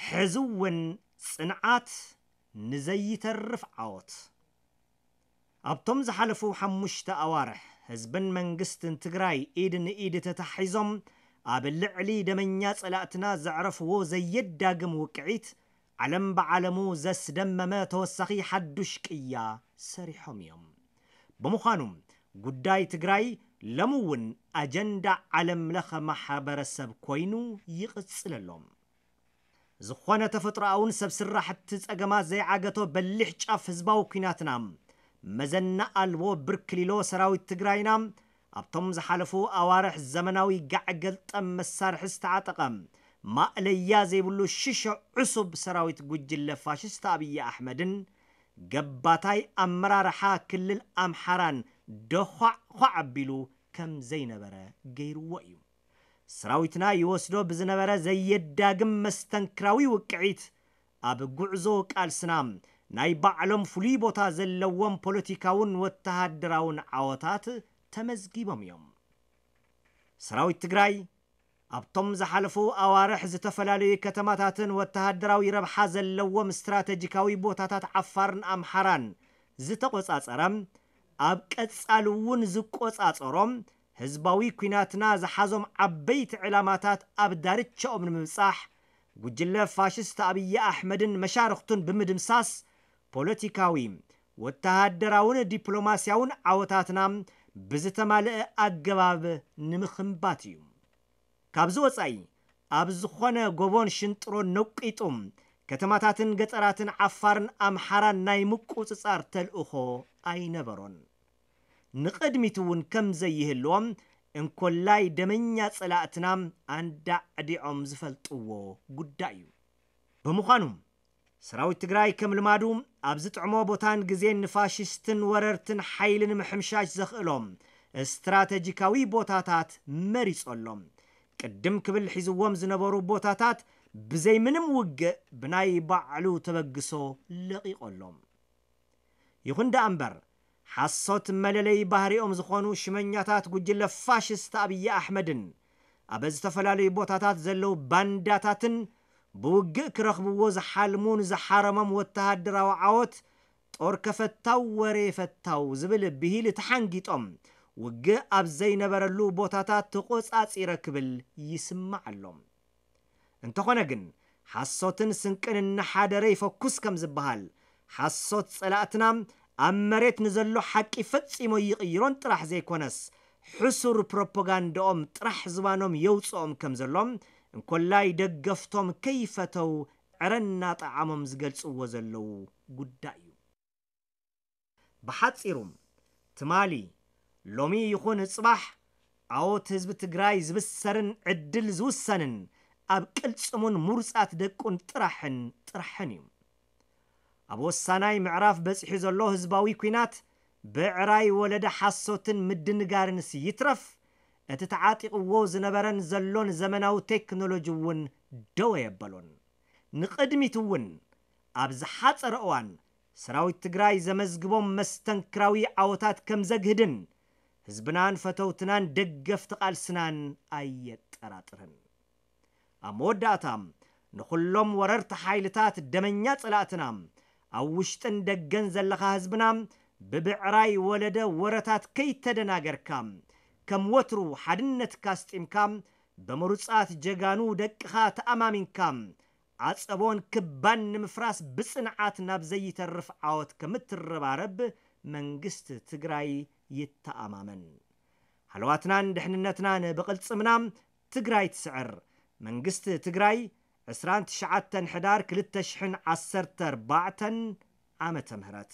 ሕዚ እውን ጽንዓት ንዘይተርፍ ዓወት። ኣብቶም ዝሓለፉ ሓሙሽተ ኣዋርሕ ህዝብን መንግስትን ትግራይ ኢድ ንኢድ ተታሒዞም ኣብ ልዕሊ ደመኛ ጸላእትና ዘዕረፍዎ ዘየዳግም ውቅዒት ዓለም ብዓለሙ ዘስደመመ ተወሳኺ ሓዱሽ ቅያ ሰሪሖም እዮም። ብምዃኑ ጉዳይ ትግራይ ሎሚ እውን ኣጀንዳ ዓለም ለኸ ማሕበረሰብ ኮይኑ ይቕጽል ኣሎ። ዝኾነ ተፈጥሮኣውን ሰብ ስራሕቲ ጸገማት ዘይዓገቶ በሊሕ ጫፍ ህዝባዊ ኲናትና መዘና ኣልቦ ብርክሊሎ ሰራዊት ትግራይና ኣብቶም ዝሓለፉ ኣዋርሕ ዘመናዊ ጋዕ ገልጠም መሳርሒ ዝተዓጠቐ ማእለያ ዘይብሉ ሽሾ ዕሱብ ሰራዊት ጉጅለ ፋሽስት ኣብይ ኣሕመድን ገባታይ ኣመራርሓ ክልል ኣምሓራን ደዃዕ ዃዕ ኣቢሉ ከም ዘይነበረ ገይርዎ እዩ። ሰራዊትና ይወስዶ ብዝነበረ ዘየዳግም መስተንክራዊ ውቅዒት ኣብ ጉዕዞ ቃልስና ናይ ባዕሎም ፍሉይ ቦታ ዘለዎም ፖለቲካውን ወተሃደራውን ዓወታት ተመዝጊቦም እዮም። ሰራዊት ትግራይ ኣብቶም ዝሓለፉ ኣዋርሕ ዝተፈላለዩ ከተማታትን ወተሃደራዊ ረብሓ ዘለዎም ስትራተጂካዊ ቦታታት ዓፋርን ኣምሓራን ዝተቆጻጸረ፣ ኣብ ቀጻሊ እውን ዝቆጻጸሮም ህዝባዊ ኲናትና ዝሓዞም ዓበይቲ ዕላማታት ኣብ ዳርቻኦም ንምብጻሕ ጉጅለ ፋሽስት ኣብይ ኣሕመድን መሻርኽቱን ብምድምሳስ ፖለቲካዊ፣ ወተሃደራውን ዲፕሎማስያውን ዓወታትና ብዝተማልአ ኣገባብ ንምኽንባት እዩ። ካብዚ ወጻኢ ኣብ ዝኾነ ጎቦን ሽንጥሮን ነቂጡ ከተማታትን ገጠራትን ዓፋርን ኣምሓራን ናይ ምቁጽጻር ተልእኾ ኣይነበሮን። ንቕድሚት እውን ከም ዘይህልዎም እንኮላይ ደመኛ ጸላእትና ኣንዳዕዲዖም ዝፈልጥዎ ጉዳይ እዩ። ብምዃኑ ሰራዊት ትግራይ ከም ልማዱ ኣብ ዝጥዕሞ ቦታን ግዜን ንፋሽስትን ወረርትን ሓይሊ ንምሕምሻሽ ዘኽእሎም ስትራተጂካዊ ቦታታት መሪጾሎም። ቅድም ክብል ሒዝዎም ዝነበሩ ቦታታት ብዘይ ምንም ውግእ ብናይ ባዕሉ ተበግሶ ለቒቖሎም። ይኹን ደኣ እምበር ሓሶት መለለይ ባህሪኦም ዝኾኑ ሽመኛታት ጉጅለ ፋሽስት ኣብይ ኣሕመድን ኣብ ዝተፈላለዩ ቦታታት ዘለዉ ባንዳታትን ብውግእ ክረኽብዎ ዝሓልሙን ዝሓረሞም ወተሃደራዊ ዓወት ጦር ከፈታው ወሬ ፈታው ዝብል ብሂል ተሓንጊጦም ውግእ ኣብ ዘይነበረሉ ቦታታት ተቆጻጺረ ክብል ይስማዕ ኣሎ። እንተኾነ ግን ሓሶትን ስንቅን እናሓደረ ይፈኩስ ከም ዝበሃል ሓሶት ጸላእትና ኣብ መሬት ንዘሎ ሓቂ ፈጺሞ ይቕይሮን ጥራሕ ዘይኮነስ ሕሱር ፕሮፓጋንዳኦም ጥራሕ ዝባኖም የውፅኦም ከም ዘሎ እንኮላይ ደገፍቶም ከይፈተው ዕረ እናጠዓሞም ዝገልፅዎ ዘለዉ ጉዳይ እዩ። ብሓፂሩ ትማሊ ሎሚ ይኹን ፅባሕ ዓወት ህዝቢ ትግራይ ዝብሰርን ዕድል ዝውሰንን ኣብ ቅልፅሙን ምሩፃት ደቁን ጥራሕን ጥራሕን እዩ። ኣብ ወሳናይ ምዕራፍ በፂሑ ዘሎ ህዝባዊ ኲናት ብዕራይ ወለደ ሓሶትን ምድንጋርንስ ይትረፍ እቲ ተዓጢቕዎ ዝነበረን ዘሎን ዘመናዊ ቴክኖሎጂ እውን ደወ የበሎን። ንቕድሚት እውን ኣብ ዝሓፀረ እዋን ሰራዊት ትግራይ ዘመዝግቦም መስተንክራዊ ዓወታት ከም ዘግህድን ህዝብናን ፈተውትናን ደገፍቲ ቃልስናን ኣየጠራጥርን። ኣብ መወዳእታ ንኹሎም ወረርቲ ሓይልታት ደመኛ ጸላእትና ኣብ ውሽጥን ደገን ዘለኻ ህዝብና ብብዕራይ ወለደ ወረታት ከይተደናገርካ ከም ወትሩ ሓድነትካ ኣስጢምካ ብምሩጻት ጀጋኑ ደቅኻ ተኣማሚንካ ዓጸቦን ክባን ንምፍራስ ብጽንዓት ናብ ዘይተርፍ ዓወት ከምትረባረብ መንግስቲ ትግራይ ይተኣማመን። ሃለዋትናን ድሕንነትናን ብቕልጽምና ትግራይ ትስዕር። መንግስቲ ትግራይ ዕስራን ትሽዓተን ሕዳር ክልተ ሽሕን ዓሰርተ ኣርባዕተን ዓመተ ምህረት።